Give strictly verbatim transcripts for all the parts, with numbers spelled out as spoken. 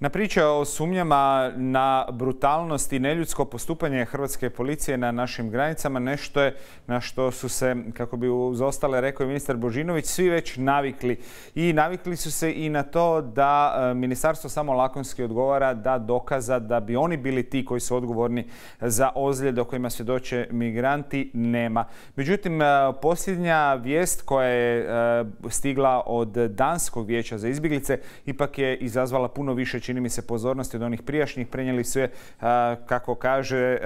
Na priče o sumnjama na brutalnost i neljudsko postupanje hrvatske policije na našim granicama nešto je na što su se, kako bi uz ostale rekao i ministar Božinović, svi već navikli. I navikli su se i na to da ministarstvo samo lakonski odgovara da dokaza da bi oni bili ti koji su odgovorni za ozljede o kojima svjedoče migranti nema. Međutim, posljednja vijest koja je stigla od Danskog vijeća za izbjeglice ipak je izazvala puno više, čini mi se, pozornosti od onih prijašnjih. Prenijeli su je, kako kaže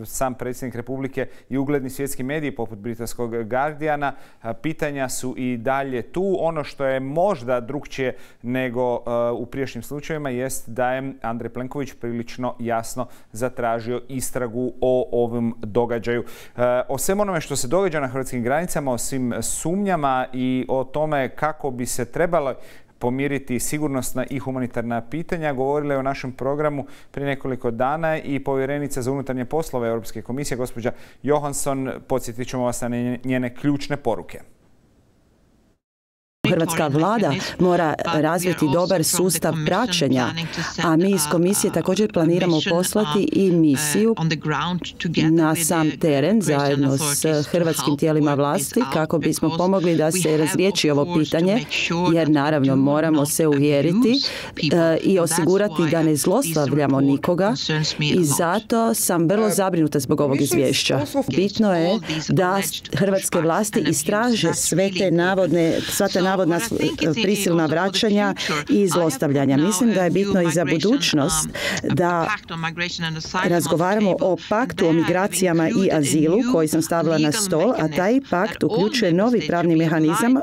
sam predsjednik Republike, i ugledni svjetski mediji poput britanskog Guardiana. Pitanja su i dalje tu. Ono što je možda drukčije nego u prijašnjim slučajevima jest da je Andrej Plenković prilično jasno zatražio istragu o ovom događaju. O svem onome što se događa na hrvatskim granicama, o svim sumnjama i o tome kako bi se trebalo pomiriti sigurnosna i humanitarna pitanja govorila je u našem programu prije nekoliko dana i povjerenica za unutarnje poslove Europske komisije, gospođa Johansson. Podsjetit ćemo vas na njene ključne poruke. Hrvatska vlada mora razviti dobar sustav praćenja, a mi iz komisije također planiramo poslati i misiju na sam teren zajedno s hrvatskim tijelima vlasti kako bismo pomogli da se razriješi ovo pitanje, jer naravno moramo se uvjeriti i osigurati da ne zlostavljamo nikoga, i zato sam vrlo zabrinuta zbog ovog izvješća. Bitno je da hrvatske vlasti istraže sve te navodne, sva te navodna prisilna vraćanja i zlostavljanja. Mislim da je bitno i za budućnost da razgovaramo o paktu o migracijama i azilu koji sam stavila na stol, a taj pakt uključuje novi pravni mehanizam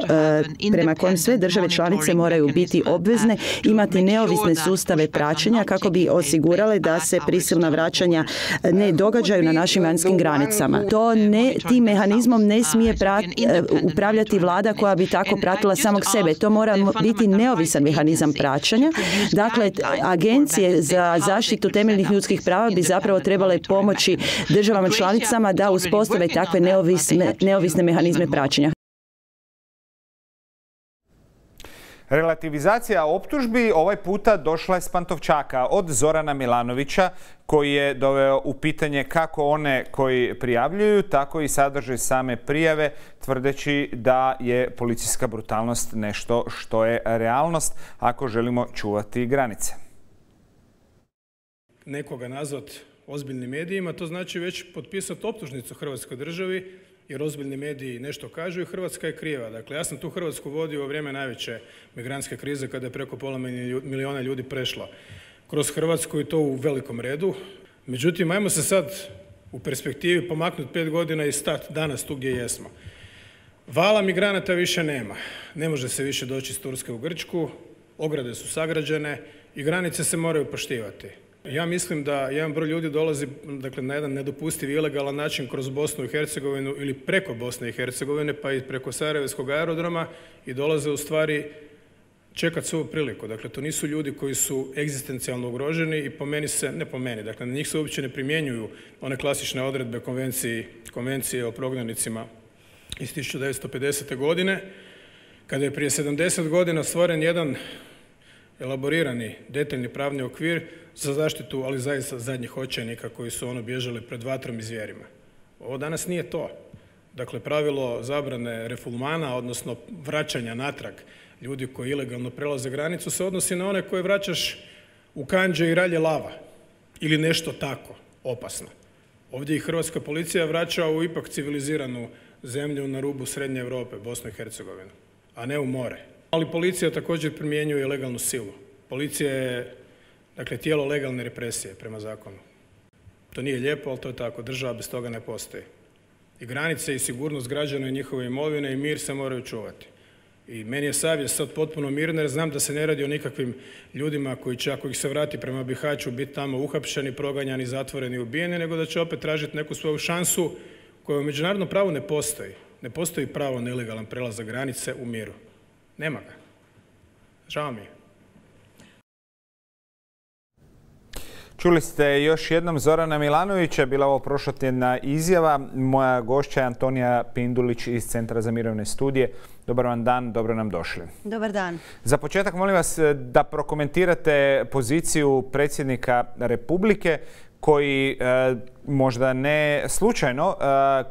prema kojem sve države članice moraju biti obvezne imati neovisne sustave praćenja kako bi osigurale da se prisilna vraćanja ne događaju na našim vanjskim granicama. To ne, tim mehanizmom ne smije prat, upravljati vlada koja bi tako pratila samog sebe. To mora biti neovisan mehanizam praćenja. Dakle, agencije za zaštitu temeljnih ljudskih prava bi zapravo trebale pomoći državama članicama da uspostave takve neovisne, neovisne mehanizme praćenja. Relativizacija optužbi ovaj puta došla je s Pantovčaka od Zorana Milanovića, koji je doveo u pitanje kako one koji prijavljuju, tako i sadržaj same prijave, tvrdeći da je policijska brutalnost nešto što je realnost ako želimo čuvati granice. Nekoga nazvat ozbiljnim medijima, to znači već potpisati optužnicu Hrvatskoj državi, jer ozbiljni mediji nešto kažu i Hrvatska je kriva. Dakle, ja sam tu Hrvatsku vodio u vrijeme najveće migrantske krize kada je preko pola milijuna ljudi prešlo kroz Hrvatsku i to u velikom redu. Međutim, ajmo se sad u perspektivi pomaknuti pet godina i stati danas tu gdje jesmo. Vala migranata više nema. Ne može se više doći iz Turske u Grčku, ograde su sagrađene i granice se moraju poštivati. Ja mislim da jedan broj ljudi dolazi, dakle, na jedan nedopustiv i ilegalan način kroz Bosnu i Hercegovinu ili preko Bosne i Hercegovine pa i preko Sarajevskog aerodroma i dolaze u stvari čekati svoju priliku. Dakle, to nisu ljudi koji su egzistencijalno ugroženi i po meni se, ne po meni, dakle, na njih se uopće ne primjenjuju one klasične odredbe konvencije, konvencije o prognanicima iz tisuću devetsto pedesete. godine, kada je prije sedamdeset godina stvoren jedan elaborirani, detaljni pravni okvir za zaštitu, ali zaista zadnjih očajnika koji su ono bježali pred vatrom i zvijerima. Ovo danas nije to. Dakle, pravilo zabrane refulmana, odnosno vraćanja natrag ljudi koji ilegalno prelaze granicu, se odnosi na one koje vraćaš u kanđe i ralje lava ili nešto tako opasno. Ovdje i hrvatska policija vraća u ipak civiliziranu zemlju na rubu Srednje Europe, Bosnu i Hercegovinu, a ne u more. Ali policija također primjenjuje legalnu silu. Policija je, dakle, tijelo legalne represije prema zakonu. To nije lijepo, ali to je tako. Država bez toga ne postoji. I granice i sigurnost građana i njihove imovine i mir se moraju čuvati. I meni je savjest sad potpuno mirna jer znam da se ne radi o nikakvim ljudima koji će, ako ih se vrati prema Bihaću, biti tamo uhapšeni, proganjani, zatvoreni, ubijeni, nego da će opet tražiti neku svoju šansu koja u međunarodnom pravu ne postoji. Ne postoji pravo na ilegalan prelazak granice u miru. Nema ga. Žao mi je. Čuli ste još jednom Zorana Milanovića, bila ovo prošlotjedna izjava. Moja gošća je Antonija Pindulić iz Centra za mirovne studije. Dobar vam dan, dobro nam došli. Dobar dan. Za početak molim vas da prokomentirate poziciju predsjednika Republike koji e, možda ne slučajno, e,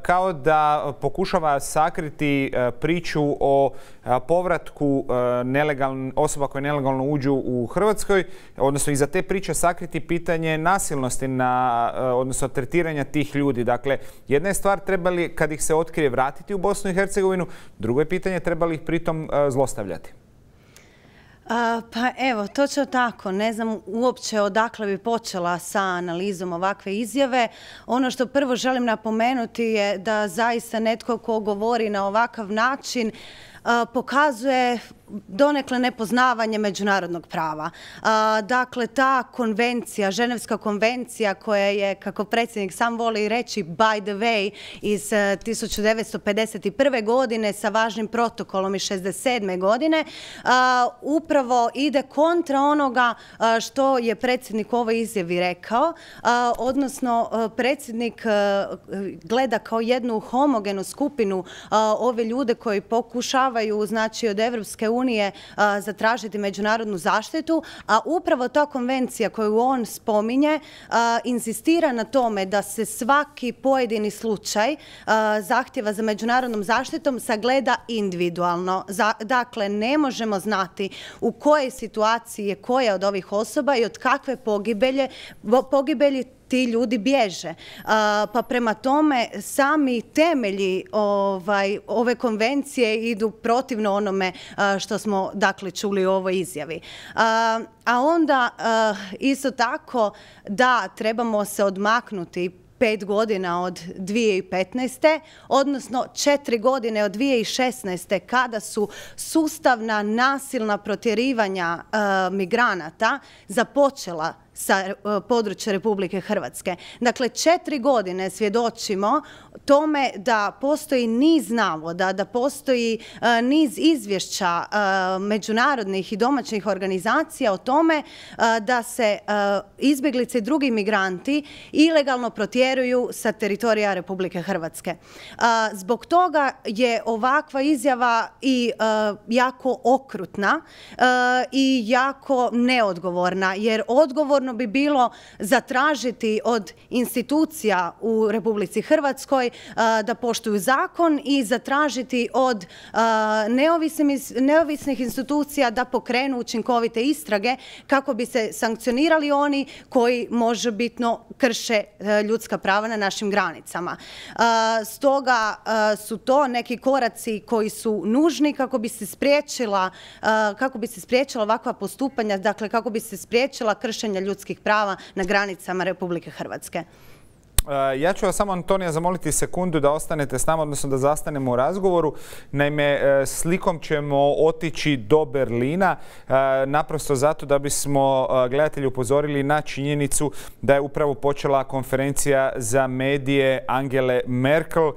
kao da pokušava sakriti e, priču o e, povratku e, nelegaln, osoba koje nelegalno uđu u Hrvatskoj, odnosno iza te priče sakriti pitanje nasilnosti, na, e, odnosno tretiranja tih ljudi. Dakle, jedna je stvar trebali kad ih se otkrije vratiti u Bosnu i Hercegovinu, drugo je pitanje trebali ih pritom e, zlostavljati. A, pa evo, točno tako. Ne znam uopće odakle bi počela sa analizom ovakve izjave. Ono što prvo želim napomenuti je da zaista netko ko govori na ovakav način a, pokazuje donekle nepoznavanje međunarodnog prava. A, dakle, ta konvencija, Ženevska konvencija koja je, kako predsjednik sam voli reći, by the way, iz tisuću devetsto pedeset prve. godine sa važnim protokolom iz šezdeset sedme. godine, a, upravo ide kontra onoga a, što je predsjednik u ovoj izjavi rekao, a, odnosno a, predsjednik a, gleda kao jednu homogenu skupinu a, ove ljude koji pokušavaju, znači, od Evropske unije unije zatražiti međunarodnu zaštitu, a upravo ta konvencija koju on spominje insistira na tome da se svaki pojedini slučaj zahtjeva za međunarodnom zaštitom sagleda individualno. Dakle, ne možemo znati u kojoj situaciji je koja od ovih osoba i od kakve pogibelje, pogibelji ti ljudi bježe. Pa prema tome sami temelji ovaj, ove konvencije idu protivno onome što smo dakle čuli u ovoj izjavi. A onda isto tako da trebamo se odmaknuti pet godina od dvije tisuće petnaeste. odnosno četiri godine od dvije tisuće šesnaeste. kada su sustavna nasilna protjerivanja migranata započela sa područja Republike Hrvatske. Dakle, četiri godine svjedočimo tome da postoji niz navoda, da postoji niz izvješća međunarodnih i domaćih organizacija o tome da se izbjeglice i drugi migranti ilegalno protjeruju sa teritorija Republike Hrvatske. Zbog toga je ovakva izjava i jako okrutna i jako neodgovorna, jer odgovorno bi bilo zatražiti od institucija u Republici Hrvatskoj da poštuju zakon i zatražiti od neovisnih institucija da pokrenu učinkovite istrage kako bi se sankcionirali oni koji možebitno krše ljudska prava na našim granicama. Stoga su to neki koraci koji su nužni kako bi se spriječila, kako bi se spriječila ovakva postupanja, dakle kako bi se spriječila kršenja ljudskih prava na granicama Republike Hrvatske. Ja ću vas samo, Antonija, zamoliti sekundu da ostanete s nama, odnosno da zastanemo u razgovoru. Naime, slikom ćemo otići do Berlina, naprosto zato da bismo gledatelji upozorili na činjenicu da je upravo počela konferencija za medije Angele Merkel.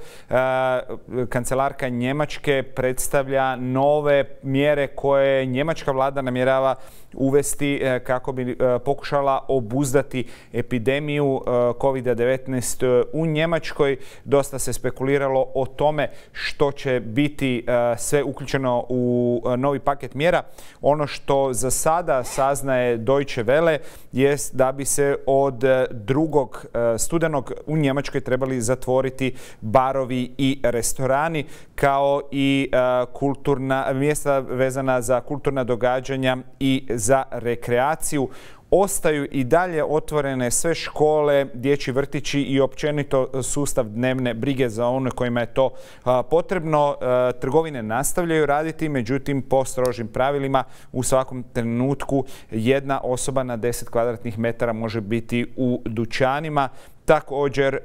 Kancelarka Njemačke predstavlja nove mjere koje njemačka vlada namjerava uvesti kako bi pokušala obuzdati epidemiju kovid devetnaest u Njemačkoj. Dosta se spekuliralo o tome što će biti sve uključeno u novi paket mjera. Ono što za sada saznaje Deutsche Welle jest da bi se od drugog studenog u Njemačkoj trebali zatvoriti barovi i restorani, kao i kulturna mjesta vezana za kulturna događanja i za rekreaciju. Ostaju i dalje otvorene sve škole, dječji vrtići i općenito sustav dnevne brige za one kojima je to potrebno. Trgovine nastavljaju raditi, međutim po strožim pravilima u svakom trenutku jedna osoba na deset kvadratnih metara može biti u dućanima. Također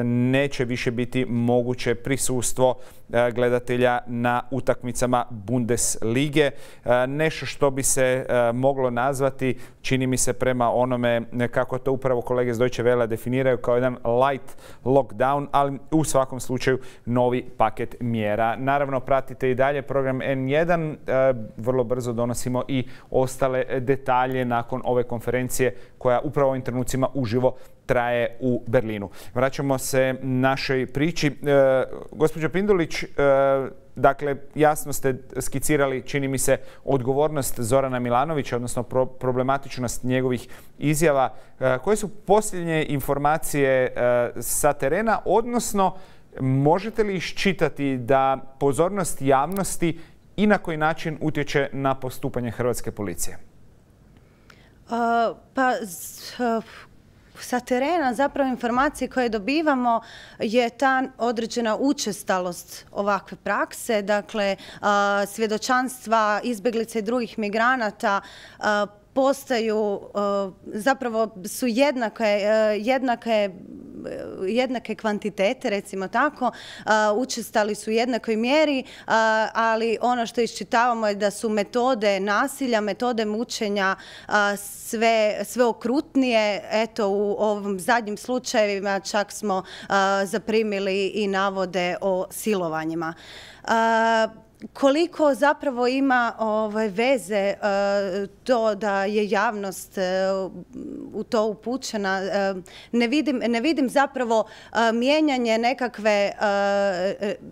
neće više biti moguće prisustvo gledatelja na utakmicama Bundeslige. Nešto što bi se moglo nazvati čini mi se prema onome kako to upravo kolege iz Deutsche Welle definiraju kao jedan light lockdown, ali u svakom slučaju novi paket mjera. Naravno, pratite i dalje program N jedan. Vrlo brzo donosimo i ostale detalje nakon ove konferencije koja upravo u ovim trenucima uživo traje u Berlinu. Vraćamo se našoj priči. E, gospođo Pindulić, e, dakle, jasno ste skicirali, čini mi se, odgovornost Zorana Milanovića, odnosno pro problematičnost njegovih izjava. E, koje su posljednje informacije e, sa terena, odnosno možete li iščitati da pozornost javnosti i na koji način utječe na postupanje hrvatske policije? Uh, pa... Uh... Sa terena zapravo informacije koje dobivamo je ta određena učestalost ovakve prakse, dakle svjedočanstva izbjeglica i drugih migranata postaju, zapravo su jednake, jednake, jednake kvantitete, recimo tako, učestali su u jednakoj mjeri, ali ono što iščitavamo je da su metode nasilja, metode mučenja sve, sve okrutnije. Eto, u ovim zadnjim slučajevima čak smo zaprimili i navode o silovanjima. Koliko zapravo ima ovaj, veze uh, to da je javnost uh, u to upućena, uh, ne vidim, ne vidim zapravo uh, mijenjanje nekakve, uh,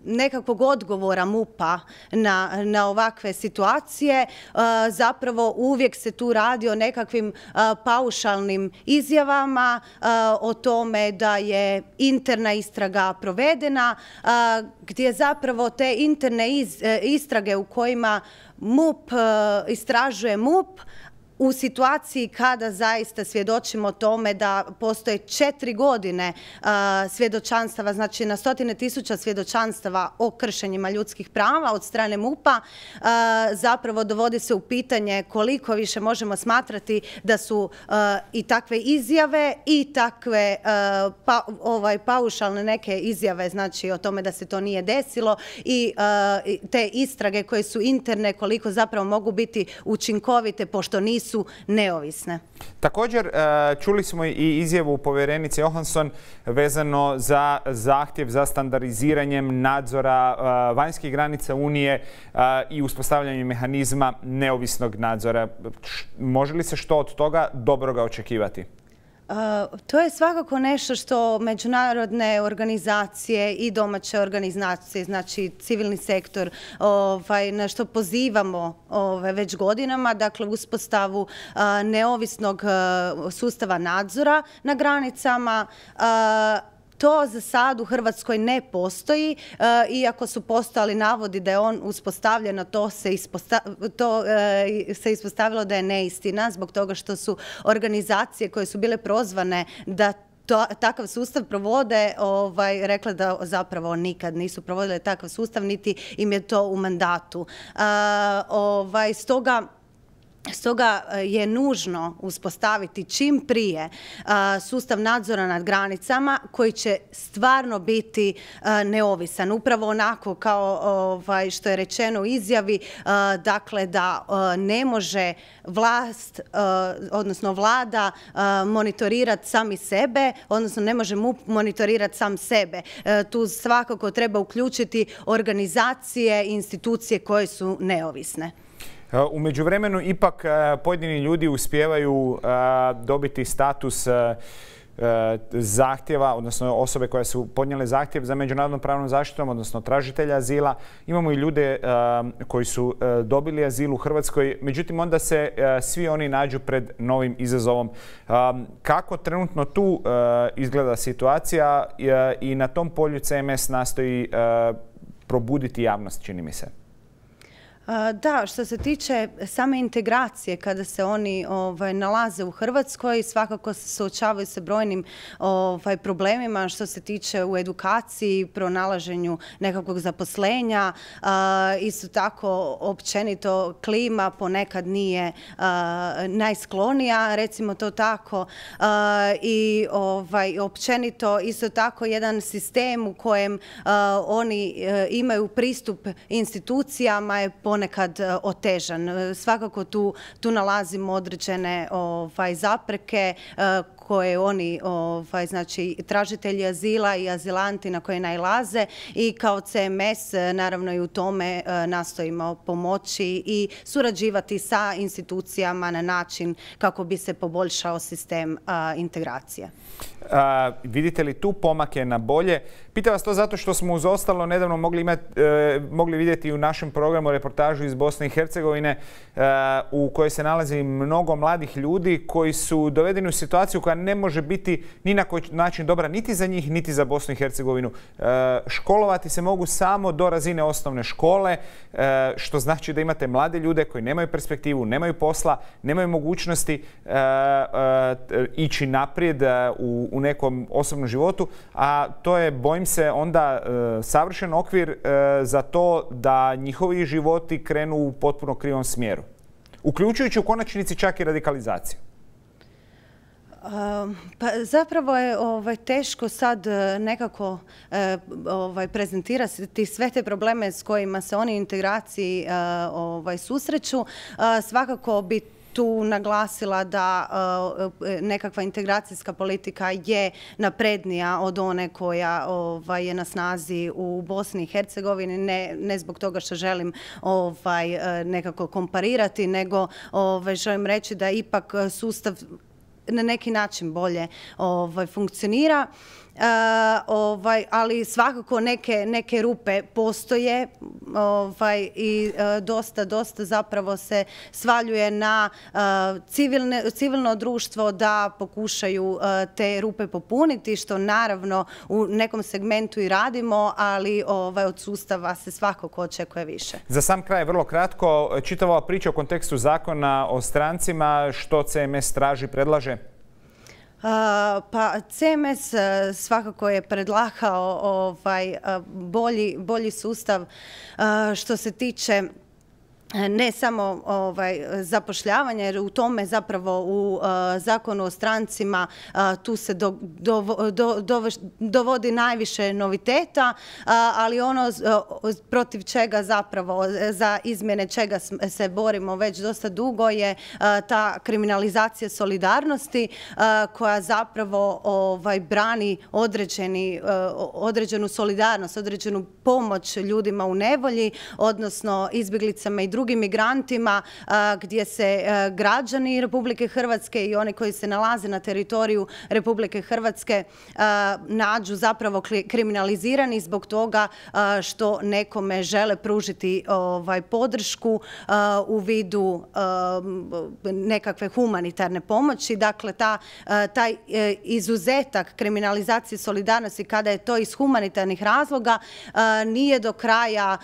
nekakvog odgovora MUP-a na, na ovakve situacije. Uh, zapravo uvijek se tu radi o nekakvim uh, paušalnim izjavama, uh, o tome da je interna istraga provedena, uh, gdje zapravo te interne iz, istrage u kojima MUP istražuje MUP u situaciji kada zaista svjedočimo tome da postoje četiri godine uh, svjedočanstava, znači na stotine tisuća svjedočanstava o kršenjima ljudskih prava od strane MUP-a, uh, zapravo dovodi se u pitanje koliko više možemo smatrati da su uh, i takve izjave i takve uh, pa, ovaj, paušalne neke izjave, znači o tome da se to nije desilo i uh, te istrage koje su interne, koliko zapravo mogu biti učinkovite pošto nisu su neovisne. Također, čuli smo i izjavu povjerenice Johansson vezano za zahtjev za standardiziranjem nadzora vanjskih granica Unije i uspostavljanjem mehanizma neovisnog nadzora. Može li se što od toga dobroga očekivati? Uh, to je svakako nešto što međunarodne organizacije i domaće organizacije, znači civilni sektor, ovaj, na što pozivamo ovaj, već godinama, dakle uspostavu uh, neovisnog uh, sustava nadzora na granicama. Uh, To za sad u Hrvatskoj ne postoji, iako su postojali navodi da je on uspostavljeno, to se, isposta, to, se ispostavilo da je neistina zbog toga što su organizacije koje su bile prozvane da to, takav sustav provode, ovaj, rekla da zapravo nikad nisu provodile takav sustav, niti im je to u mandatu. Ovaj, stoga Stoga je nužno uspostaviti čim prije sustav nadzora nad granicama koji će stvarno biti neovisan. Upravo onako kao ovaj, što je rečeno u izjavi, dakle da ne može vlast, odnosno vlada monitorirati sami sebe, odnosno ne može MUP monitorirati sam sebe. Tu svakako treba uključiti organizacije i institucije koje su neovisne. U međuvremenu ipak pojedini ljudi uspijevaju dobiti status zahtjeva, odnosno osobe koje su podnijele zahtjev za međunarodnom pravnom zaštitom, odnosno tražitelja azila. Imamo i ljude koji su dobili azil u Hrvatskoj, međutim onda se svi oni nađu pred novim izazovom. Kako trenutno tu izgleda situacija i na tom polju C M S nastoji probuditi javnost, čini mi se? Da, što se tiče same integracije, kada se oni ovaj, nalaze u Hrvatskoj, svakako se suočavaju sa brojnim ovaj, problemima što se tiče u edukaciji, pronalaženju nekakvog zaposlenja. A, isto tako, općenito, klima ponekad nije a, najsklonija, recimo to tako. A, I ovaj, općenito, isto tako, jedan sistem u kojem a, oni a, imaju pristup institucijama je ponekad ponekad otežan. Svakako tu, tu nalazimo određene ovaj, zapreke koje oni, ovaj, znači, tražitelji azila i azilanti na koje nailaze i kao C M S naravno i u tome nastojimo pomoći i surađivati sa institucijama na način kako bi se poboljšao sistem integracije. A, vidite li tu pomake na bolje? Pitam vas to zato što smo uz ostalo nedavno mogli, imati, e, mogli vidjeti u našem programu reportažu iz Bosne i Hercegovine e, u kojoj se nalazi mnogo mladih ljudi koji su dovedeni u situaciju koja ne može biti ni na koji način dobra niti za njih, niti za Bosnu i Hercegovinu. E, školovati se mogu samo do razine osnovne škole, e, što znači da imate mlade ljude koji nemaju perspektivu, nemaju posla, nemaju mogućnosti e, e, ići naprijed u, u nekom osobnom životu, a to je, bojim se, onda e, savršen okvir e, za to da njihovi životi krenu u potpuno krivom smjeru, uključujući u konačnici čak i radikalizaciju. Pa zapravo je ovaj, teško sad nekako ovaj, prezentirati sve te probleme s kojima se oni u integraciji ovaj, susreću. Svakako bi tu naglasila da nekakva integracijska politika je naprednija od one koja ovaj, je na snazi u Bosni i Hercegovini, ne, ne zbog toga što želim ovaj, nekako komparirati, nego ovaj, želim reći da ipak sustav na neki način bolje ovaj, funkcionira. Uh, ovaj, ali svakako neke, neke rupe postoje ovaj, i uh, dosta, dosta zapravo se svaljuje na uh, civilne, civilno društvo da pokušaju uh, te rupe popuniti, što naravno u nekom segmentu i radimo, ali ovaj, od sustava se svakako očekuje više. Za sam kraj, vrlo kratko, čitava priča u kontekstu zakona o strancima, što C M S traži, predlaže? Pa C M S svakako je predlagao ovaj, bolji, bolji sustav što se tiče ne samo ovaj, zapošljavanja, jer u tome zapravo u uh, zakonu o strancima uh, tu se do, do, do, do, dovodi najviše noviteta, uh, ali ono uh, protiv čega zapravo, za izmjene čega se borimo već dosta dugo je uh, ta kriminalizacija solidarnosti uh, koja zapravo ovaj, brani određeni, uh, određenu solidarnost, određenu pomoć ljudima u nevolji, odnosno izbjeglicama i drugim migrantima, gdje se građani Republike Hrvatske i oni koji se nalaze na teritoriju Republike Hrvatske nađu zapravo kriminalizirani zbog toga što nekome žele pružiti ovaj, podršku u vidu nekakve humanitarne pomoći. Dakle, ta, taj izuzetak kriminalizacije solidarnosti kada je to iz humanitarnih razloga nije do kraja,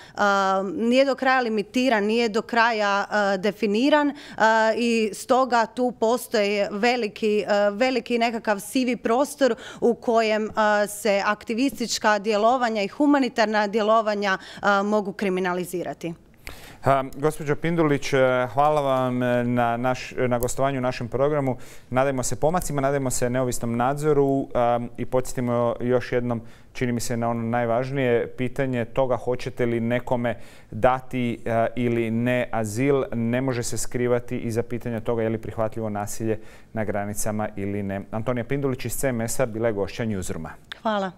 nije do kraja limitiran, nije do kraja definiran i stoga tu postoji veliki, veliki nekakav sivi prostor u kojem se aktivistička djelovanja i humanitarna djelovanja mogu kriminalizirati. Gospođo Pindulić, hvala vam na, naš, na gostovanju u našem programu. Nadajmo se pomacima, nadajmo se neovisnom nadzoru i podsjetimo još jednom, čini mi se, na ono najvažnije pitanje toga hoćete li nekome dati ili ne azil. Ne može se skrivati iza pitanja toga je li prihvatljivo nasilje na granicama ili ne. Antonija Pindulić iz C M S-a bila je gošća Newsrooma. Hvala.